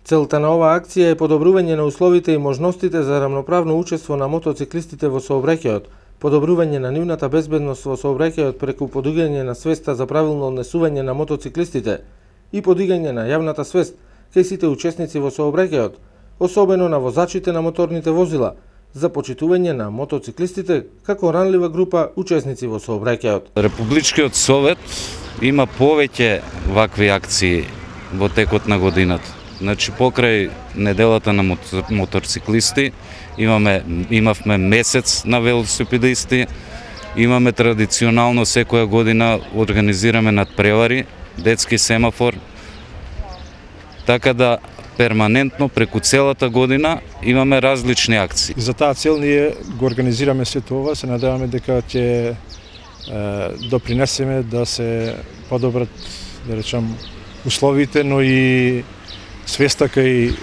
Целта на оваа акција е подобрување на условите и можностите за рамноправно учество на мотоциклистите во сообраќајот, подобрување на нивната безбедност во сообраќајот преку подигање на свеста за правилно однесување на мотоциклистите и подигање на јавната свест кај сите учесници во сообраќајот, особено на возачите на моторните возила, за почитување на мотоциклистите како ранлива група учесници во сообраќајот. Републичкиот совет има повеќе вакви акции во текот на годината. Значи, покрај неделата на моторциклисти, имавме месец на велосипедисти, имаме традиционално секоја година организираме надпревари, детски семафор, така да перманентно преку целата година имаме различни акции. За таа цел ние го организираме се тоа, се надеваме дека ќе допринесеме да се подобрат, да речам, условите, но и свеста кај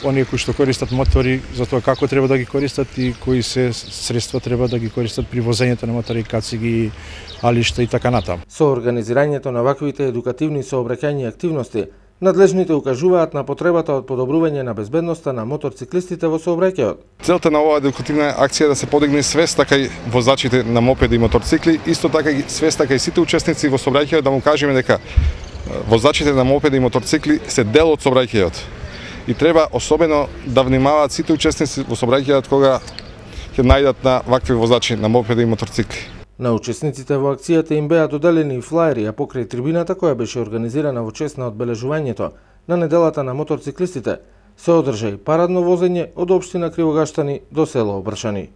оние кои што користат мотори за тоа како треба да ги користат и кои се средства треба да ги користат при возењето на мотори, кациги, алишта и така натаму. Со организирањето на ваквите едукативни сообраќајни активности, надлежните укажуваат на потребата од подобрување на безбедноста на моторциклистите во сообраќајот. Целта на оваа едукативна акција е да се подигне свеста кај возачите на мопеди и моторцикли, исто така и свеста кај сите учесници во сообраќајот, да му кажеме дека возачите на мопеди и моторцикли се дел од сообраќајот и треба особено да внимаваат сите учесници во сообраќајот кога ќе најдат на вакви возачи на мопеди и моторцикли. На учесниците во акцијата им беа доделени флаери, а покрај трибината која беше организирана во чест на одбележувањето на неделата на моторциклистите, се одржа и парадно возење од општина Кривогаштани до село Обршани.